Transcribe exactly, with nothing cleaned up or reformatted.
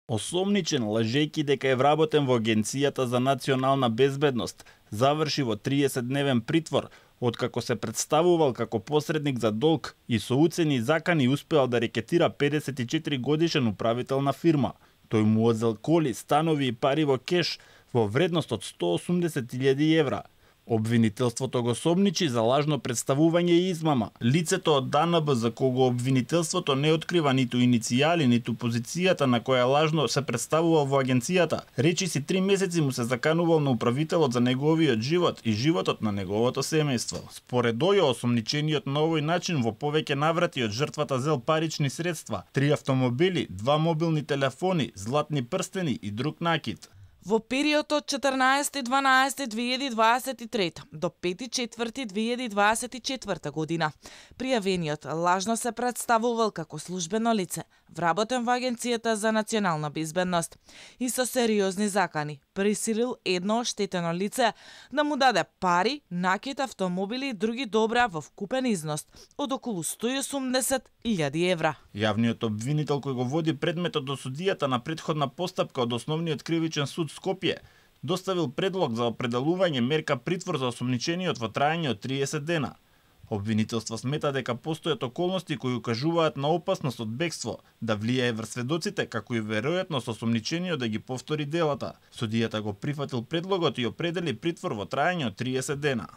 Осомничен, лажејќи дека е вработен во Агенцијата за национална безбедност, заврши во триесетдневен притвор, откако се представувал како посредник за долг и со уцени и закани успеал да рекетира педесет и четири годишен управител на фирма. Тој му одзел коли, станови и пари во кеш во вредност од сто осумдесет илјади евра. Обвинителството го сомничи за лажно представување и измама. Лицето од ДАНБ за кого обвинителството не открива ниту иницијали, ниту позицијата на која лажно се представувал во агенцијата, речиси три месеци му се заканувал на управителот за неговиот живот и животот на неговото семејство. Според Ојо, осомничениот на овој начин во повеќе наврати од жртвата зел парични средства, три автомобили, два мобилни телефони, златни прстени и друг накит. Во период од четрнаесети дванаесети две илјади дваесет и трета до пети четврти две илјади дваесет и четврта година, пријавениот лажно се представувал како службено лице, вработен во Агенцијата за национална безбедност и со сериозни закани присилил едно оштетено лице да му даде пари, накит, автомобили и други добра во вкупен износ од околу сто и осумдесет илјади евра. Јавниот обвинител кој го води предметот до судијата на претходна постапка од Основниот кривичен суд Скопје доставил предлог за определување мерка притвор за осомничениот во траење од триесет дена. Обвинителство смета дека постојат околности кои укажуваат на опасност од бегство, да влијае врз сведоците, како и веројатност осомничениот да ги повтори делата. Судијата го прифатил предлогот и определи притвор во траење од триесет дена.